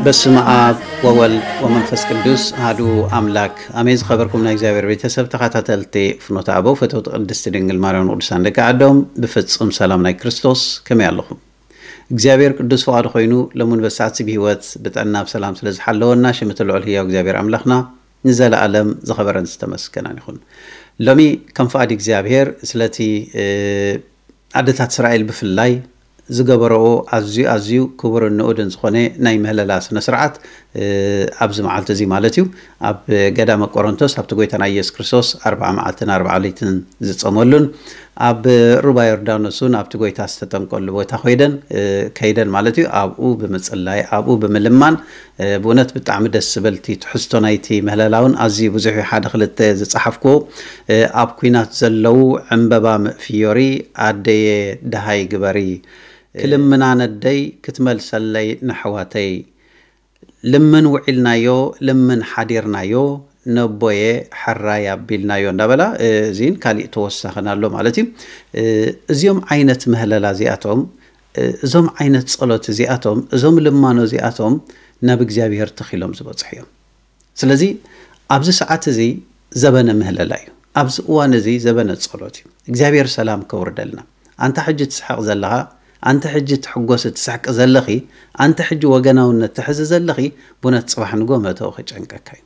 በስመ አብ ወወልድ ወመንፈስ ቅዱስ አሐዱ አምላክ አሜን። ዝኸበርኩም ናይ እግዚኣብሔር ቤተሰብ ተኸታተልቲ ፍኖተ አበው ፈተውቲ ቅድስቲ ድንግል ማርያም ቅዱሳን ደቂ ዓዶም ብፍጹም ሰላም ናይ ክርስቶስ ከመይ ኣለኹም? እግዚኣብሔር ቅዱስ ፍቓዱ ኮይኑ ለሙን በሳዕቲ ብህይወት ብጥዕና ብሰላም ስለ ዝሓለወና ሽም እቲ ልዑል ህያው እግዚኣብሔር ኣምላኽና ንዘለኣለም ዝኸበረን ዝተመስገነን ይኹን። ሎሚ ከም ፍቓድ እግዚኣብሔር ስለቲ ኣደታት እስራኤል ብፍላይ ዝገበረኦ ኣዝዩ ኣዝዩ ክቡርን ንኡድን ዝኾነ ናይ ምህለላ ስነ ስርዓት ኣብዚ መዓልቲ እዚ ማለት እዩ ኣብ ገዳመ ቆሮንቶስ ኣብቲ ጎይታና ኢየሱስ ክርስቶስ ኣርብዓ መዓልትን ኣርብዓ ለይትን ዝጸመሉን ኣብ ሩባ ዮርዳኖስ እውን ኣብቲ ጎይታ ዝተጠምቀሉ ቦታ ኮይደን ከይደን ማለት እዩ ኣብኡ ብምጽላይ ኣብኡ ብምልማን ብእውነት ብጣዕሚ ደስ ዝበልቲ ትሕዝቶ ናይቲ ምህለላውን ኣዝዩ ብዙሕ ሓደ ክልተ ዝጸሓፍኩዎ ኣብ ኩናት ዘለዉ ዕምበባ ምእፍዮሪ ኣደየ ደሃይ ግበሪ ክልምና ነደይ ክትመልሰለይ ነሕዋተይ ልምን ውዒልናዮ ልምን ሓዲርናዮ ነቦየ ሕራይ ኣቢልናዮ እንዳበላ እዚን ካሊእ ተወሳኽን ኣሎ ማለት እዩ። እዚኦም ዓይነት ምህለላ እዚኣቶም እዞም ዓይነት ጸሎት እዚኣቶም እዞም ልማኖ እዚኣቶም ናብ እግዚኣብሔር ተኺሎም ዝበጽሑ እዮም። ስለዚ ኣብዚ ሰዓት እዚ ዘበነ ምህለላ እዩ። ኣብዚ እዋን እዚ ዘበነ ጸሎት እዩ። እግዚኣብሔር ሰላም ከውርደልና። ኣንታ ሕጂ ትስሕቕ ዘለኻ፣ ኣንታ ሕጂ ትሕጎስ ትስሕቂ ዘለኺ፣ ኣንታ ሕጂ ወገናውነት ትሕዚ ዘለኺ፣ ብእውነት ጽባሕ ንጎ መእተዊ ክጨንቀካ እዩ።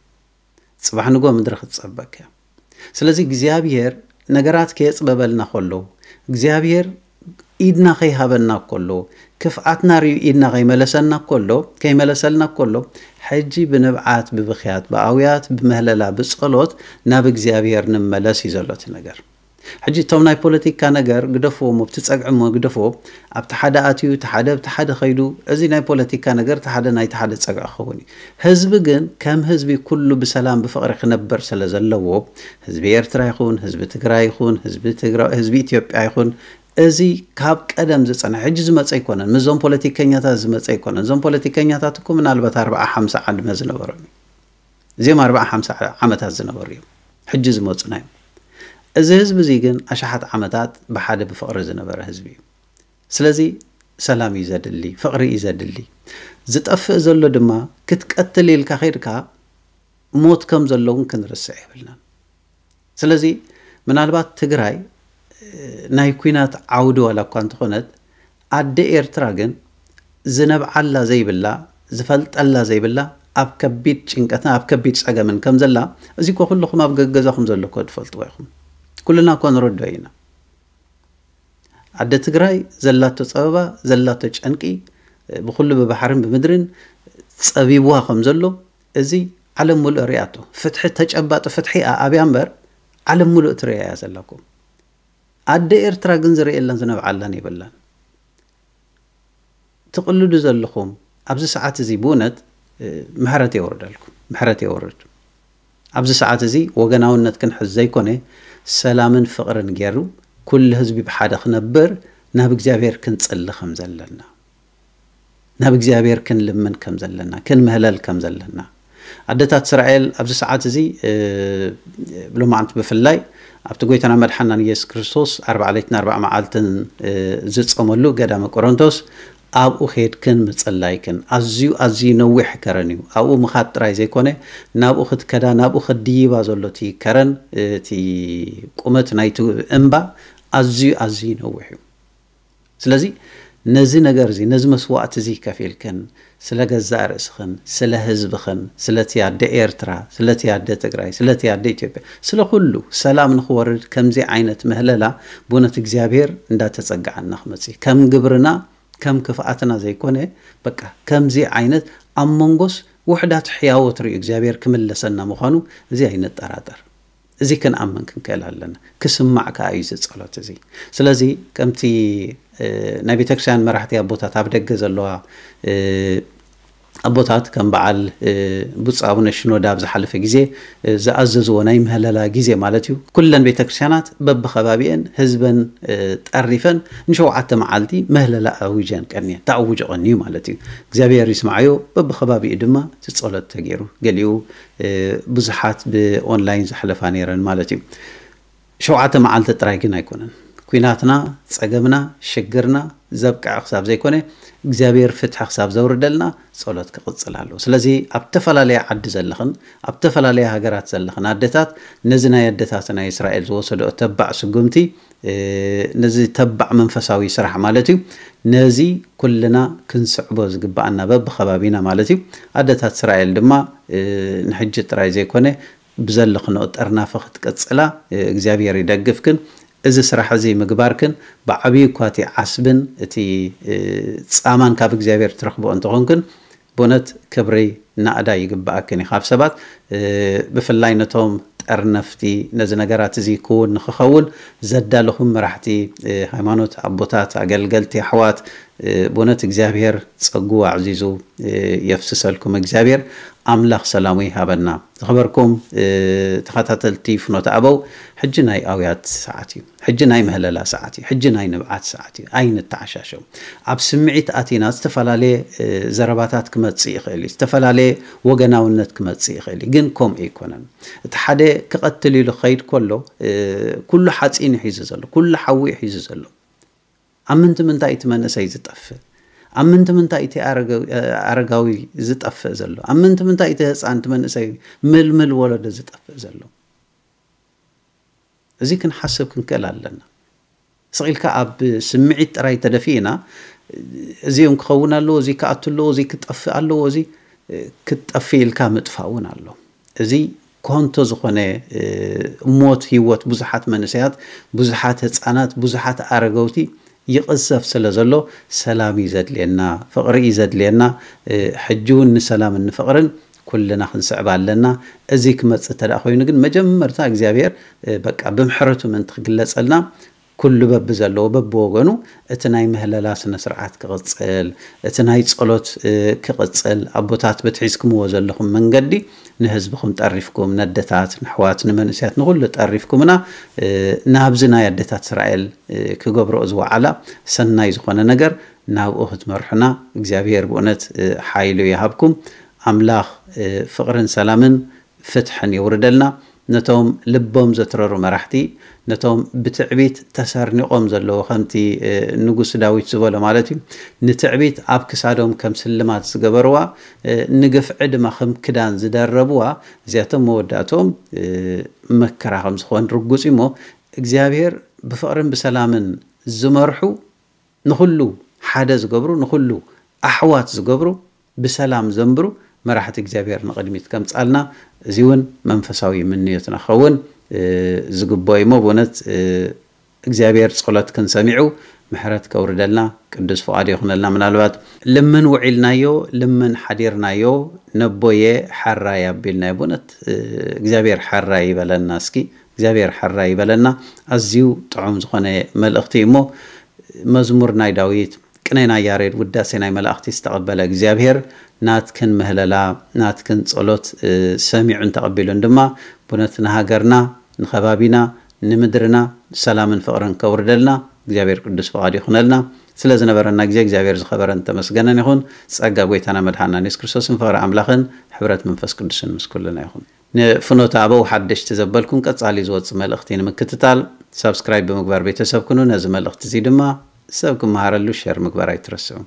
ጽባሕ ንጎ ምድሪ ክትጸበካ እያ። ስለዚ እግዚኣብሔር ነገራት ከየጽበበልና ከሎ እግዚኣብሔር ኢድና ከይሃበና ከሎ ክፍኣትና ርዩ ኢድና ከይመለሰና ከሎ ከይመለሰልና ከሎ ሕጂ ብንብዓት ብብኽያት ብኣውያት ብምህለላ ብጸሎት ናብ እግዚኣብሔር ንመለስ እዩ ዘሎ እቲ ነገር። ሕጂ እቶም ናይ ፖለቲካ ነገር ግደፍዎም ኣብቲ ጸግዒ እሞ ግደፍዎ ኣብቲ ሓደ ኣትዩ እቲ ሓደ ኣብቲ ሓደ ኸይዱ እዚ ናይ ፖለቲካ ነገር እቲ ሓደ ናይቲ ሓደ ጸግዒ ክኸውን እዩ። ህዝቢ ግን ከም ህዝቢ ኩሉ ብሰላም ብፍቕሪ ክነብር ስለ ዘለዎ ህዝቢ ኤርትራ ይኹን ህዝቢ ትግራይ ይኹን ህዝቢ ትግራ ህዝቢ ኢትዮጵያ ይኹን እዚ ካብ ቀደም ዝጸንሐ ሕጂ ዝመጸ ኣይኮነን። ምስዞም ፖለቲከኛታት ዝመጸ ኣይኮነን። እዞም ፖለቲከኛታት እኮ ምናልባት ኣርብዓ ሓምሳ ዓድመ ዝነበሮም እዮም። እዚኦም ኣርብዓ ሓምሳ ዓመታት ዝነበሩ እዮም ሕጂ ዝመጹና እዮም። እዚ ህዝቢ እዚ ግን ኣሽሓት ዓመታት ብሓደ ብፍቕሪ ዝነበረ ህዝቢ እዩ። ስለዚ ሰላም እዩ ዘድሊ፣ ፍቕሪ እዩ ዘድሊ። ዝጠፍእ ዘሎ ድማ ክትቀትል ኢልካ ከይድካ ሞት ከም ዘለውን ክንርስዕ የብልናን። ስለዚ ምናልባት ትግራይ ናይ ኩናት ዓውዲ ዋላ እኳ እንተኾነት ኣደ ኤርትራ ግን ዝነብዓላ ዘይብላ ዝፈልጠላ ዘይብላ ኣብ ከቢድ ጭንቀትን ኣብ ከቢድ ጸገምን ከም ዘላ እዚ እኮ ኩልኹም ኣብ ገገዛኹም ዘሎ እኮ ትፈልጥዎ ኢኹም። ኩልና እኮ ንረድኦ ኢና። ኣደ ትግራይ ዘላቶ ጸበባ ዘላቶ ጨንቂ ብኩሉ ብባሕርን ብምድርን ጸቢብዋ ከም ዘሎ እዚ ዓለም ሙሉእ ሪኣቶ። ፍትሒ ተጨባጢ ፍትሒ ኣኣብያ እምበር ዓለም ሙሉእ ትሪኣ እያ ዘላኩም። ኣደ ኤርትራ ግን ዝርእየላን ዝነብዓላን የብላን። ትቕልዱ ዘለኹም ኣብዚ ሰዓት እዚ ብእውነት ምሕረት የወርደልኩም፣ ምሕረት የወርድ። ኣብዚ ሰዓት እዚ ወገናውነት ክንሕዝ ዘይኮነ ሰላምን ፍቕርን ገይሩ ኩሉ ህዝቢ ብሓደ ክነብር ናብ እግዚኣብሔር ክንጽሊ ከም ዘለና ናብ እግዚኣብሔር ክንልምን ከም ዘለና ክንምህለል ከም ዘለና ኣደታት እስራኤል ኣብዚ ሰዓት እዚ ሎማዓንቲ ብፍላይ ኣብቲ ጎይታና መድሓናን ኢየሱስ ክርስቶስ ኣርባዓ ለይትን ኣርባዓ መዓልትን ዝጸመሉ ገዳመ ቆሮንቶስ ኣብኡ ኸድክን ምጽላይክን ኣዝዩ ኣዝዩ ነዊሕ ከረን እዩ። ኣብኡ ምኻድ ጥራይ ዘይኮነ ናብኡ ክትከዳ ናብኡ ከድይባ ዘሎ እቲ ከረን እቲ ቁመት ናይቲ እምባ ኣዝዩ ኣዝዩ ነዊሕ እዩ። ስለዚ ነዚ ነገር እዚ ነዚ መስዋእቲ እዚ ከፊልክን ስለ ገዛእ ርእስኽን ስለ ህዝብኽን ስለቲ ኣደ ኤርትራ ስለቲ ኣደ ትግራይ ስለቲ ኣደ ኢትዮጵያ ስለ ኩሉ ሰላም ንኽወርድ ከምዚ ዓይነት ምህለላ ብእውነት እግዚኣብሔር እንዳተጸግዓና ክመጽእ ከም ግብርና ከም ክፍኣትና ዘይኮነ በቃ ከምዚ ዓይነት ኣብ መንጎስ ውሕዳት ሕያወት ርእዩ እግዚኣብሔር ክምለሰና ምዃኑ እዚ ኣይንጠራጠር። እዚ ክንኣምን ክንክእል ኣለና። ክስማዕ ከዓ እዩ እዚ ጸሎት እዚ። ስለዚ ከምቲ ናይ ቤተክርስትያን መራሕቲ ኣቦታት ኣብ ደገ ዘለዋ ኣቦታት ከም በዓል ብፁዕ ኣቡነ ሽኖዳ ኣብ ዝሓለፈ ግዜ ዝኣዘዝዎ ናይ ምህለላ ግዜ ማለት እዩ። ኩለን ቤተክርስትያናት በብኸባቢአን ህዝበን ጠሪፈን ንሸውዓተ መዓልቲ ምህለላ ኣዊጀን ቀንየን ተኣውጆ ቀንዩ ማለት እዩ። እግዚኣብሔር ይስምዓዮ። በብኸባቢኡ ድማ እቲ ጸሎት ተገይሩ ገሊኡ ብዙሓት ብኦንላይን ዘሕለፋ ነይረን ማለት እዩ። ሸውዓተ መዓልቲ ጥራይ ግን ኣይኮነን። ኲናትና፣ ጸገምና፣ ሽግርና ዘብቅዐ ክሳብ ዘይኮነ እግዚኣብሔር ፍትሒ ክሳብ ዘውርደልና ጸሎት ክቕጽል ኣለዎ። ስለዚ ኣብ ተፈላለየ ዓዲ ዘለኽን ኣብ ተፈላለየ ሃገራት ዘለኽን ኣደታት ነዚ ናይ ኣደታት ናይ እስራኤል ዝወሰዶ ተባዕ ስጉምቲ ነዚ ተባዕ መንፈሳዊ ስራሕ ማለት እዩ። ነዚ ኩልና ክንስዕቦ ዝግባኣና በብኸባቢና ማለት እዩ። ኣደታት እስራኤል ድማ ንሕጂ ጥራይ ዘይኮነ ብዘለኽንኦ ጠርናፈ ክትቅጽላ እግዚኣብሔር ይደግፍክን። እዚ ስራሕ እዚ ምግባርክን ብዓብዩ እኳ እቲ ዓስብን እቲ ጻማን ካብ እግዚኣብሔር ትረኽቦ እንተኾንክን ብእውነት ክብሪ ናእዳ ይግባኣክን እዩ። ካብ ሰባት ብፍላይ ነቶም ጠርነፍቲ ነዚ ነገራት እዚ ክውን ንክኸውን ዘዳለኹም መራሕቲ ሃይማኖት ኣቦታት ኣገልገልቲ ኣሕዋት ብእውነት እግዚኣብሔር ጸጉ ኣዕዚዙ የፍስሰልኩም። እግዚኣብሔር ኣምላኽ ሰላሙ ይሃበና። ዝኸበርኩም ተኸታተልቲ ፍኖተ ኣበው ሕጂ ናይ ኣውያት ሰዓት እዩ። ሕጂ ናይ ምህለላ ሰዓት እዩ። ሕጂ ናይ ንብዓት ሰዓት እዩ። ኣይንተዓሻሸው። ኣብ ስምዒት ኣቲና ዝተፈላለየ ዘረባታት ክመጽእ ይኽእል እዩ። ዝተፈላለየ ወገናውነት ክመጽእ ይኽእል እዩ። ግን ከምኡ ኣይኮነን። እቲ ሓደ ክቐትል ኢሉ ክኸይድ ከሎ ኩሉ ሓፂን እዩ ሒዙ ዘሎ፣ ኩሉ ሓዊ እዩ ሒዙ ዘሎ። ኣብ ምንቲ ምንታይ እቲ መንእሰይ ዝጠፍእ? ኣብ ምንቲ ምንታይ እቲ ኣረጋዊ ዝጠፍእ ዘሎ? ኣብ ምንቲ ምንታይ እቲ ህፃን እቲ መንእሰይ ምልምል ወለዶ ዝጠፍእ ዘሎ? እዚ ክንሓስብ ክንክእል ኣለና። ስቕ ኢልካ ኣብ ስምዒት ጥራይ ተደፊእና እዚኦም ክኸውን ኣለዎ፣ እዚ ክኣቱ ኣለዎ፣ እዚ ክጠፍእ ኣለዎ፣ እዚ ክጠፍእ ኢልካ ምጥፋእ እውን ኣሎ። እዚ ኮንቶ ዝኾነ ሞት ህይወት ብዙሓት መንእሰያት፣ ብዙሓት ህፃናት፣ ብዙሓት ኣረገውቲ ይቕዘፍ ስለ ዘሎ ሰላም እዩ ዘድልየና፣ ፍቕሪ እዩ ዘድልየና። ሕጂ እውን ንሰላምን ንፍቕርን ኩልና ክንስዕብ ኣለና። እዚ ክመፅእ እንተ ኮይኑ ግን መጀመርታ እግዚኣብሔር በቃ ብምሕረቱ ምእንቲ ክግለፀልና ኩሉ በብዘለዎ በብወገኑ እቲ ናይ ምህለላ ስነ ስርዓት ክቕፅል፣ እቲ ናይ ጸሎት ክቕፅል፣ ኣቦታት በቲ ሒዝኩምዎ ዘለኹም መንገዲ ንህዝብኹም ጠሪፍኩም፣ ነደታት፣ ንሕዋት፣ ንመንእሰያት፣ ንኹሉ ጠሪፍኩምና ናብዚ ናይ ኣደታት እስራኤል ክገብርኦ ዝወዓላ ሰናይ ዝኾነ ነገር ናብኡ ክትመርሑና እግዚኣብሔር ብእውነት ሓይሉ ይሃብኩም። ኣምላኽ ፍቕርን ሰላምን ፍትሕን የውርደልና። ነቶም ልቦም ዘትረሩ መራሕቲ፣ ነቶም ብትዕቢት ተሰርኒቖም ዘለዉ፣ ከምቲ ንጉስ ዳዊት ዝበሎ ማለት እዩ፣ ንትዕቢት ኣብ ክሳዶም ከም ስልማት ዝገበርዋ፣ ንግፍዒ ድማ ከም ክዳን ዝደረብዋ፣ እዚኣቶም መወዳእቶም መከራ ከም ዝኾን ርጉጽ እዩ። እሞ እግዚኣብሔር ብፍቕርን ብሰላምን ዝመርሑ ንኹሉ ሓደ ዝገብሩ፣ ንኹሉ ኣሕዋት ዝገብሩ፣ ብሰላም ዘንብሩ መራሕቲ እግዚኣብሔር ንቕድሚት ከምጻልና፣ እዚ እውን መንፈሳዊ ምንዮትና ክኸውን ዝግብኦ እዩ። እሞ ብእውነት እግዚኣብሔር ጸሎትክን ሰሚዑ ምሕረት ከውርደልና ቅዱስ ፍቓዱ ይኹነልና። ምናልባት ልምን ውዒልናዮ፣ ልምን ሓዲርናዮ፣ ነቦየ ሓራይ ኣቢልናዮ። ብእውነት እግዚኣብሔር ሓራይ ይበለና። እስኪ እግዚኣብሔር ሓራይ ይበለና። ኣዝዩ ጥዑም ዝኾነ መልእኽቲ እዩ። እሞ መዝሙር ናይ ዳዊት፣ ቅኔ ናይ ያሬድ፣ ውዳሴ ናይ መላእኽቲ ዝተቐበለ እግዚኣብሔር ናትክን ምህለላ፣ ናትክን ጸሎት ሰሚዑን ተቐቢሉን ድማ ብእውነት ንሃገርና፣ ንኸባቢና፣ ንምድርና ሰላምን ፍቕርን ከውርደልና እግዚኣብሔር ቅዱስ ፍቓዱ ይኹነልና። ስለ ዝነበረና ግዜ እግዚኣብሔር ዝኸበረን ተመስገነን ይኹን። ጸጋ ጎይታና መድሓና የሱስ ክርስቶስን ፍቕሪ ኣምላኽን ሕብረት መንፈስ ቅዱስን ምስ ኩልና ይኹን። ንፍኖተ ኣበው ሓደሽቲ ዘበልኩም ቀጻሊ ዝወጽእ መልእኽቲ ንምክትታል ሳብስክራይብ ብምግባር ቤተሰብ ኩኑ። ነዚ መልእኽቲ እዚ ድማ ሰብ ክመሃረሉ ሸር ምግባር ኣይትረስዑ።